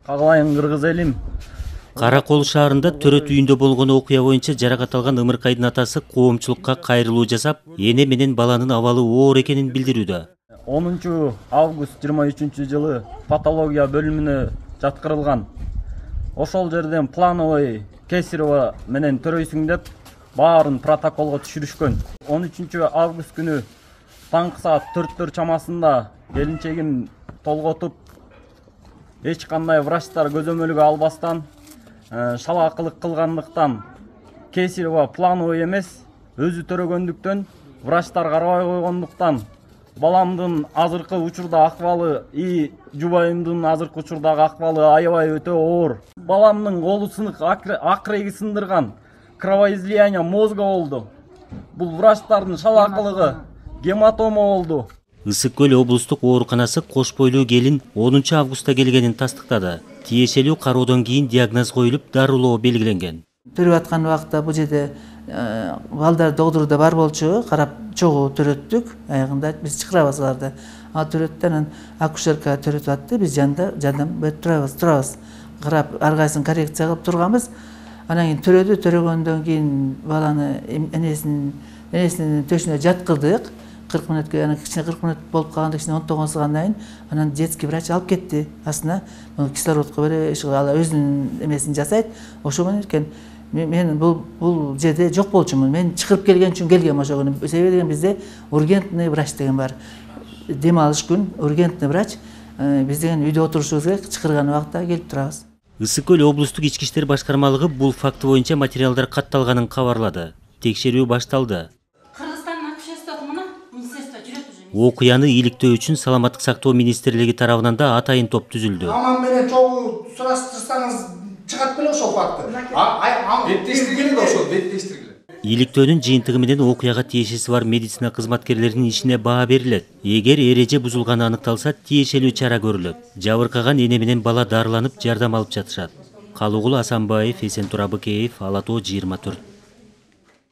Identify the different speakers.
Speaker 1: Кагалайын кыргыз элим.
Speaker 2: Кара Кол шаарында төрөт үйүндө болгон окуя боюнча жаракат алган Ымыркайдын атасы коомчулукка кайрылуу жасап, эне менен баланын абалы оор экенин билдирүүдө.
Speaker 1: 10 август 23-жылы патология бөлүмүнө жаткырылган. Ошол жерден плановый кесарево менен төрөйсүң деп баарын протоколго түшүрүшкөн. 13 август күнү таңкы саат 4 чамасында келинчегим толготуп, эч кандай врачтар көзөмөлгө албастан, шалаакылык кылгандыктан кесарево плановый эмес, өзү төрөгөндүктөн, врачтар карабай койгондуктан баламдын азыркы учурда акыбалы жубайымдын азыркы учурдагы акыбалы аябай өтө оор. Баламдын колу сынык, акыреги сындырган, кровоизлияние мозга болду. Бул врачтардын шалаакылыгы гематома болду.
Speaker 2: Ысык Көл облустук ооруканасы кош бойлуу келин 10 августта келгенин тастыктады. Тиешелүү кароодон кийин диагноз коюлуп, дарылоо белгиленген.
Speaker 3: Төрөп аткан убакта бул жерде балдар догдурда бар болчу, карап чогуу төрөттүк. Аягында биз чакырабыз аларды. Ал төрөттөн акушерка төрөтүп атты, биз жардам берип турабыз. Карап ар кайсын коррекция кылып турганбыз. Анан кийин төрөгөндөн кийин баланы энесинин төшүнө жаткырдык. 40 мүнөткө, анан кичине 40 мүнөт болуп калганда, кичине 10 сагандан кийин анан детский врач алып кетти. Астына кислородко берип, ал өзүнүн эмесин жасайт. Ошо менен экен мен бул жерде жок болчумун. Мен чыгырып келген үчүн келгем ошо күнү. Себеби деген бизде ургентный врач деген бар. Дем алыш күн ургентный врач. Биз деген үйдө отурушубуз керек, чыгырган убакта келип турабыз.
Speaker 2: Ысык Көл облустук ички иштер башкармалыгы бул факты боюнча материалдар катталганын кабарлады. Текшерүү башталды. Окуяны иликтөө үчүн Саламаттык сактоо министрлиги тарабынан да атайын топ түзүлдү.
Speaker 4: Мамам менен чогуу сураштырсаңыз чыгат беле ошол факты. Беттештиргиле ошол, беттештиргиле.
Speaker 2: Иликтөөнүн жыйынтыгы менен окуяга тиешеси бар медицина кызматкерлеринин ишине баа берилет. Эгер эреже бузулганы аныкталса, тиешелүү чара көрүлөт. Жабыркаган эне менен бала дарыланып, жардам алып жатышат. Калуугул Асанбаев, Эсентур Абыкеев, Ала Тоо 24.